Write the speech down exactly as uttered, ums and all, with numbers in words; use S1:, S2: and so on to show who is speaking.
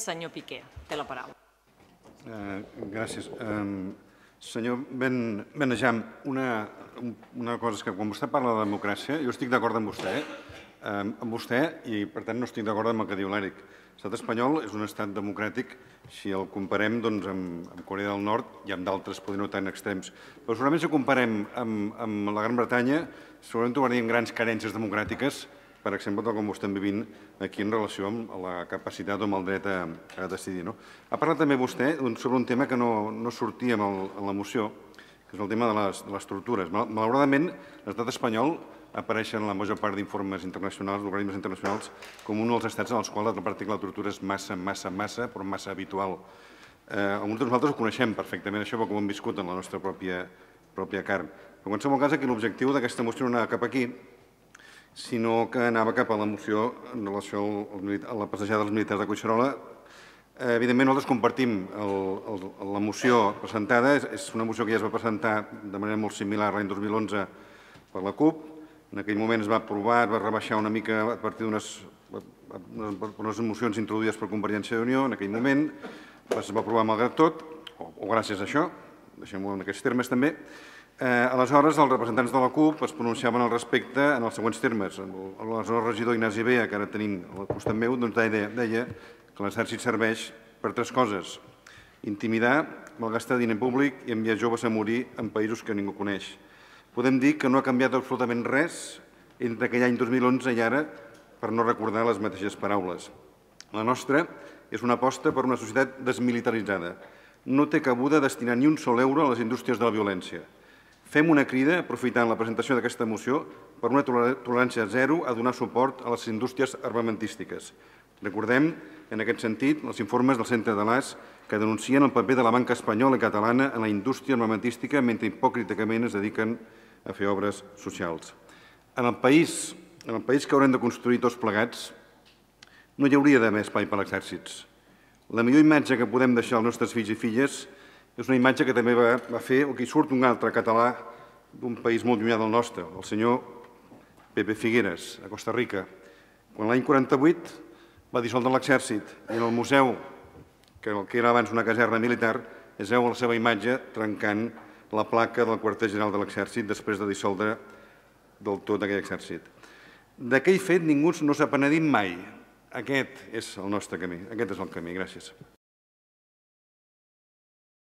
S1: senyor Piqué, té la paraula.
S2: Gràcies. Senyor Benejam, una cosa és que quan vostè parla de democràcia, jo estic d'acord amb vostè, amb vostè i per tant no estic d'acord amb el que diu l'Eric. L'estat espanyol és un estat democràtic si el comparem amb Corea del Nord i amb d'altres, potser no tan extrems. Però segurament si ho comparem amb la Gran Bretanya, segurament trobaríem grans carències democràtiques, per exemple, tal com ho estem vivint aquí en relació amb la capacitat o amb el dret a decidir. Ha parlat també vostè sobre un tema que no sortia en la moció, que és el tema de les tortures. Malauradament, l'estat espanyol apareix en la major part d'informes internacionals, d'organismes internacionals, com un dels estats en els quals la pràctica de la tortura és massa, massa, massa, però massa habitual. Alguns de nosaltres ho coneixem perfectament, això, perquè ho hem viscut en la nostra pròpia carn. Però en qualsevol cas, aquí l'objectiu d'aquesta moció no anava cap aquí, sinó que anava cap a la moció en relació a la passejada dels militars de Collserola. Evidentment, nosaltres compartim la moció presentada. És una moció que ja es va presentar de manera molt similar l'any dos mil onze per la CUP. En aquell moment es va aprovar, es va rebaixar una mica a partir d'unes mocions introduïdes per Convergència i Unió. En aquell moment es va aprovar malgrat tot, o gràcies a això, deixem-ho en aquests termes també. Aleshores, els representants de la CUP es pronunciaven al respecte en els següents termes. L'aleshores regidor Ignasi Bea, que ara tenim al costat meu, deia que l'exèrcit serveix per tres coses: intimidar, malgastar diner públic i enviar joves a morir en països que ningú coneix. Podem dir que no ha canviat absolutament res entre aquell any dos mil onze i ara, per no recordar les mateixes paraules. La nostra és una aposta per una societat desmilitaritzada. No té cabuda destinar ni un sol euro a les indústries de la violència. Fem una crida, aprofitant la presentació d'aquesta moció, per una tolerància zero a donar suport a les indústries armamentístiques. Recordem, en aquest sentit, els informes del Centre de l'A S que denuncien el paper de la banca espanyola i catalana en la indústria armamentística mentre hipòcritament es dediquen a fer obres socials. En el país que haurem de construir tots plegats, no hi hauria d'haver espai per a exèrcits. La millor imatge que podem deixar als nostres fills i filles és una imatge que també va fer, o que hi surt un altre català d'un país molt llunyà del nostre, el senyor Pepe Figueres, a Costa Rica. Quan l'any quaranta-vuit va dissoldre l'exèrcit i en el museu, que era abans una caserna militar, es veu la seva imatge trencant la placa del quarter general de l'exèrcit després de dissoldre del tot aquell exèrcit. D'aquell fet ningú no s'ha penedit mai. Aquest és el nostre camí, aquest és el camí. Gràcies.